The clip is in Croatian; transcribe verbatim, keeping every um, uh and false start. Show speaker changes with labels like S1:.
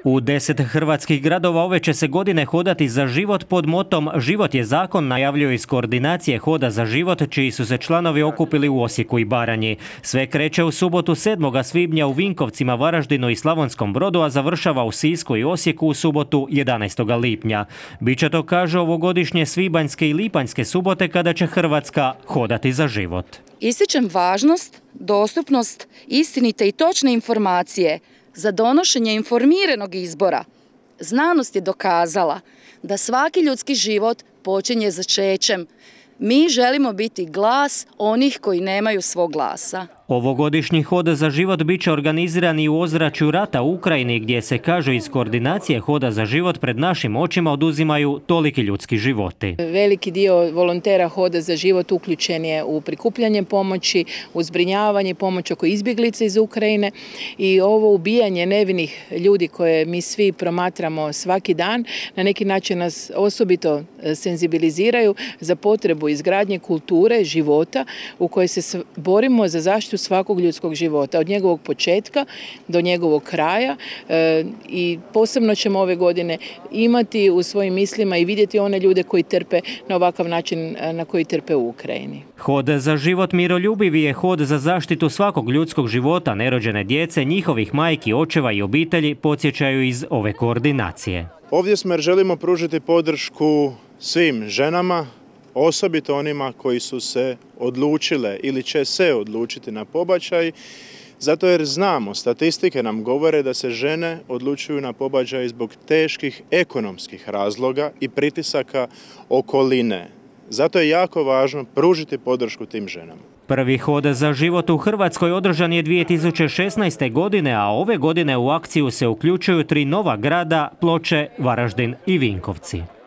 S1: U deset hrvatskih gradova ove će se godine hodati za život pod motom Život je zakon, najavljuje iz koordinacije Hoda za život, čiji su se članovi okupili u Osijeku i Baranji. Sve kreće u subotu sedmog svibnja u Vinkovcima, Varaždinu i Slavonskom Brodu, a završava u Sisku i Osijeku u subotu jedanaestog lipnja. Biće to, kaže, ovogodišnje svibanjske i lipanjske subote kada će Hrvatska hodati za život.
S2: Ističem važnost, dostupnost, istinite i točne informacije za donošenje informiranog izbora. Znanost je dokazala da svaki ljudski život počinje začećem. Mi želimo biti glas onih koji nemaju svog glasa.
S1: Ovogodišnji Hod za život bit će organiziran i u ozračju rata u Ukrajini, gdje se, kaže, iz koordinacije Hoda za život pred našim očima oduzimaju toliki ljudski životi.
S3: Veliki dio volontera Hoda za život uključen je u prikupljanje pomoći, u zbrinjavanje pomoći oko izbjeglica iz Ukrajine i ovo ubijanje nevinih ljudi koje mi svi promatramo svaki dan na neki način nas osobito senzibiliziraju za potrebu izgradnje kulture života u kojoj se borimo za zaštitu svakog ljudskog života, od njegovog početka do njegovog kraja, e, i posebno ćemo ove godine imati u svojim mislima i vidjeti one ljude koji trpe na ovakav način na koji trpe u Ukrajini.
S1: Hod za život miroljubivi je hod za zaštitu svakog ljudskog života, nerođene djece, njihovih majki, očeva i obitelji, podsjećaju iz ove koordinacije.
S4: Ovdje smo jer želimo pružiti podršku svim ženama, osobito onima koji su se odlučile ili će se odlučiti na pobačaj, zato jer znamo, statistike nam govore da se žene odlučuju na pobačaj zbog teških ekonomskih razloga i pritisaka okoline. Zato je jako važno pružiti podršku tim ženama.
S1: Prvi Hod za život u Hrvatskoj održan je dvije tisuće šesnaeste. godine, a ove godine u akciju se uključuju tri nova grada, Ploče, Varaždin i Vinkovci.